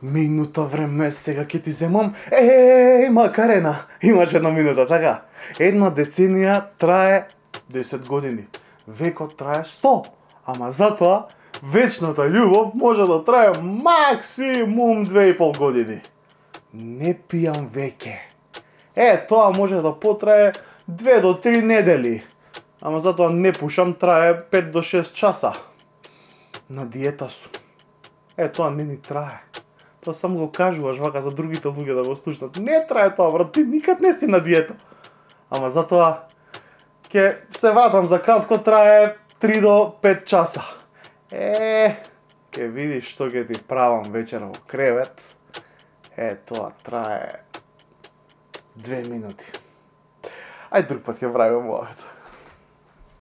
Минута време сега ќе ти земам. Макарена, имаш една минута, така? Една деценија трае 10 години. Векот трае 100. Ама затоа вечната љубов може да трае максимум 2,5 години. Не пијам веќе. Тоа може да потрае 2 до 3 недели. Ама затоа не пушам, трае 5 до 6 часа. На диета сум. Тоа не ни трае. Тоа само го кажуваш вака за другите луѓе да го слушнат. Не трае тоа, брат, ти никад не си на диета. Ама затоа ќе се вратам за кратко, трае 3 до 5 часа. Ќе видиш што ќе ти правам вечера во кревет. Тоа трае 2 минути. Ај друг пат ќе правиме моето.